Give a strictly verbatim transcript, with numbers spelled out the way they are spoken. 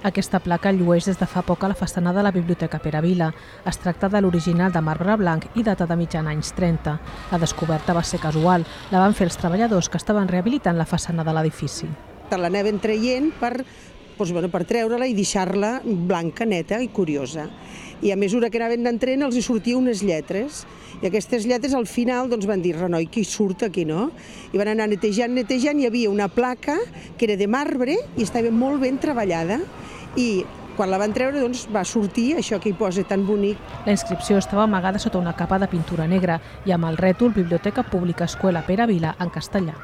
Aquesta placa llueix des de fa poc a la façana de la Biblioteca Pere Vila. Es tracta de l'original de marbre blanc i data de mitjan anys trenta. La descoberta va ser casual. La van fer els treballadors que estaven rehabilitant la façana de l'edifici. L'anaven traient per, doncs, bueno, per treure-la i deixar-la blanca, neta i curiosa. I a mesura que anaven entrant els hi sortien unes lletres. I aquestes lletres al final doncs, van dir, renoi, qui surt aquí, no? I van anar netejant, netejant, hi havia una placa que era de marbre i estava molt ben treballada. I quan la van treure doncs, va sortir això que hi posa tan bonic. La inscripció estava amagada sota una capa de pintura negra i amb el rètol Biblioteca Pública Escuela Pere Vila en castellà.